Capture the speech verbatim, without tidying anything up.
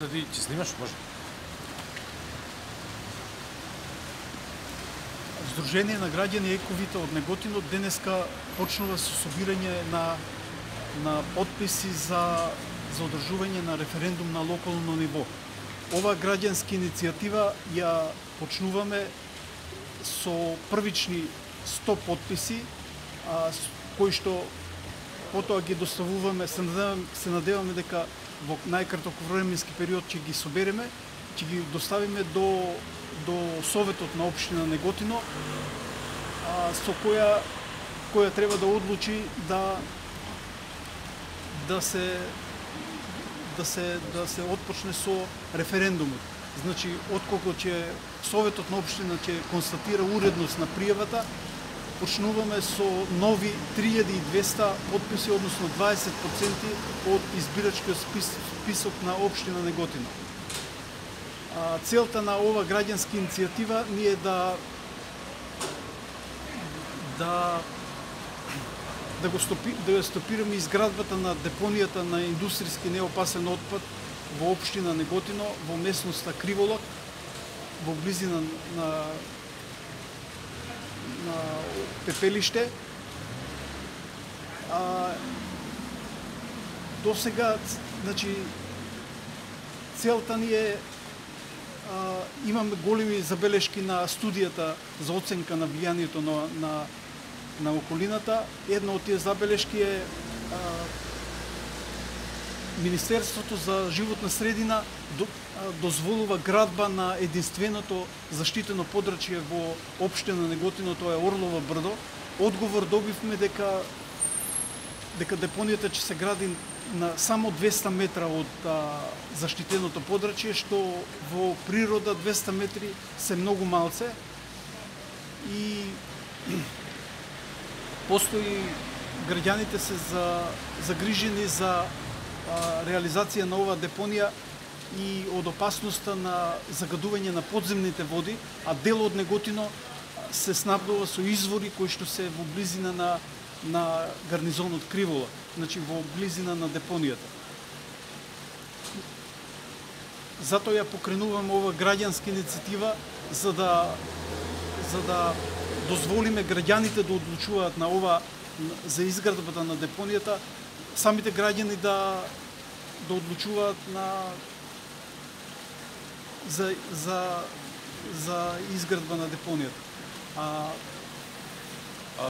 Да ти ќе снимаш, може. Сдружение на граѓани Ековита од Неготино денеска почнува со собирање на на потписи за за одржување на референдум на локално ниво. Ова граѓанска иницијатива ја почнуваме со првични сто потписи, а, кои што потоа ги доставуваме, се надеваме, се надеваме дека во најкраток временски период ќе ги собереме, ќе ги доставиме до до Советот на општина Неготино, а, со која која треба да одлучи да да се да се да се отпочне со референдумот. Значи, отколку ќе Советот на општина ќе констатира уредност на пријавата, почнуваме со нови три илјади и двесте потписи, односно дваесет проценти од избирачкиот спис, список на општина Неготино. А, целта на ова граѓанска иницијатива ни е да да да го стопи, да ја стопираме изградбата на депонијата на индустријски неопасен отпад во општина Неготино, во местноста Криволак, во близина на на пепелиште. А, до сега, значи, целта ни е, а, имаме големи забелешки на студијата за оценка на влијанието на, на, на околината. Една од тие забелешки е а, Министерството за животна средина до, а, дозволува градба на единственото заштитено подрачје во општина Неготино, тоа е Орлово брдо. Одговор добивме дека дека депонијата ќе се гради на само двесте метра од а, заштитеното подрачје, што во природа двесте метри се многу малце и постои граѓаните се за загрижени за а, реализација на оваа депонија и од опасноста на загадување на подземните води, а дел од Неготино се снабдува со извори кои што се во близина на на гарнизонот Кривола, значи во близина на депонијата. Затоа ја покренуваме ова граѓанска иницијатива за да за да дозволиме граѓаните да одлучуваат на ова за изградбата на депонијата, самите граѓани да да одлучуваат на за за за изградба на депонијата. А